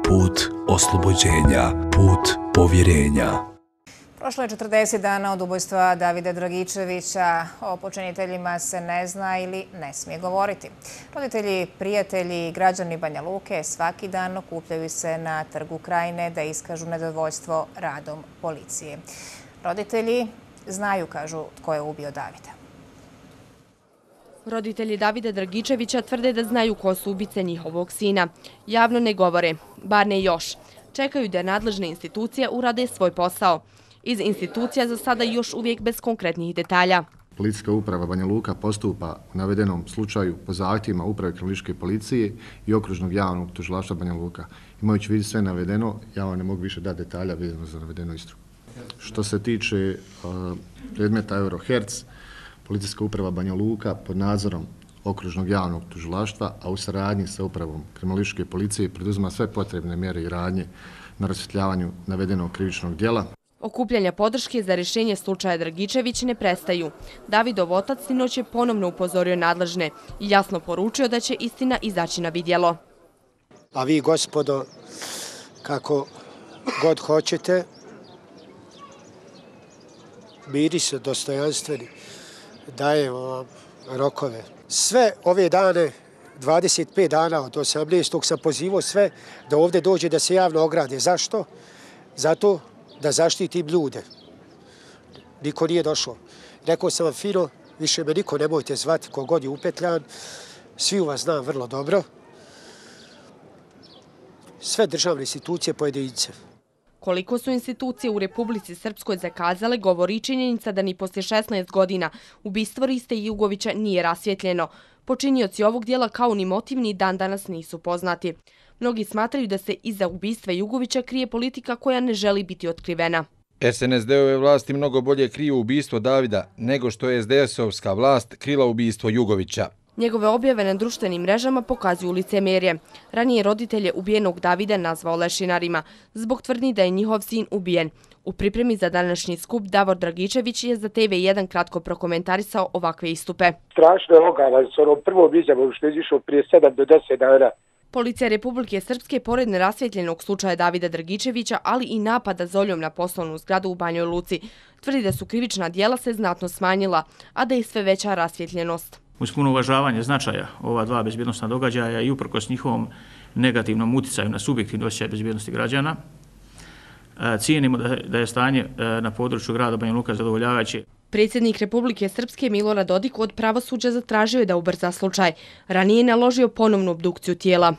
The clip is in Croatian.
put oslobođenja, put povjerenja. Prošlo je 40 dana od ubojstva Davida Dragičevića. O počiniteljima se ne zna ili ne smije govoriti. Roditelji, prijatelji i građani Banja Luke svaki dan okupljaju se na Trgu Krajine da iskažu nezadovoljstvo radom policije. Roditelji znaju, kažu, tko je ubio Davida. Roditelji Davida Dragičevića tvrde da znaju ko su ubice njihovog sina. Javno ne govore, bar ne još. Čekaju da nadležne institucije urade svoj posao. Iz institucija za sada još uvijek bez konkretnih detalja. Policijska uprava Banja Luka postupa u navedenom slučaju po zahtjevima Uprave kriminalističke policije i Okružnog javnog tužilaštva Banja Luka. Imajući vidu sve navedeno, ja vam ne mogu više dati detalja vezano za navedenu istragu. Što se tiče predmeta Euroherc, Policijska uprava Banja Luka pod nadzorom Okružnog javnog tužilaštva, a u saradnji sa Upravom kriminalističke policije preduzima sve potrebne mjere i radnje na rasvjetljavanju navedenog krivičnog djela. Okupljanja podrške za rješenje slučaja Dragičević ne prestaju. Davidov otac sinoć je ponovno upozorio nadležne i jasno poručio da će istina izaći na vidjelo. A vi, gospodo, kako god hoćete, bili se dostojanstveni, dajemo vam rokove. Sve ove dane, 25 dana od 18. sam pozivao sve da ovdje dođe da se javno ograde. Zašto? Zato da zaštitim ljude. Niko nije došao. Rekao sam vam fino, više me niko nemojte zvati kogod je upetljan. Svi vas znam vrlo dobro. Sve državne institucije, pojedince. Koliko su institucije u Republici Srpskoj zakazale, govori činjenica da ni poslije 16 godina ubistvo Riste Jugovića nije rasvjetljeno. Počinioci ovog dijela kao ni motiv ni dan danas nisu poznati. Mnogi smatraju da se iza ubistva Jugovića krije politika koja ne želi biti otkrivena. SNSD-ove vlasti mnogo bolje kriju ubistvo Davida nego što je SDS-ovska vlast krila ubistvo Jugovića. Njegove objave na društvenim mrežama pokazuju licemerje. Ranije roditelje ubijenog Davida nazvao lešinarima zbog tvrdnji da je njihov sin ubijen. U pripremi za današnji skup Davor Dragičević je za TV1 kratko prokomentarisao ovakve istupe. Strašno je ogavno s onom prvom izjavom što je izišao prije 7 do 10 dana. Policija Republike Srpske, pored nerasvjetljenog slučaja Davida Dragičevića, ali i napada zoljom na poslovnu zgradu u Banjoj Luci, tvrdi da su krivična djela se znatno smanjila, a da je sve veća rasvjetljenost. Uz puno uvažavanje značaja ova dva bezbjednostna događaja i uprkos njihovom negativnom uticaju na subjektivni osjećaj bezbjednosti građana, cijenimo da je stanje na području grada Banja Luka zadovoljavajuće. Predsjednik Republike Srpske Milorad Dodik od pravosuđa zatražio je da ubrza slučaj. Ranije je naložio ponovnu obdukciju tijela.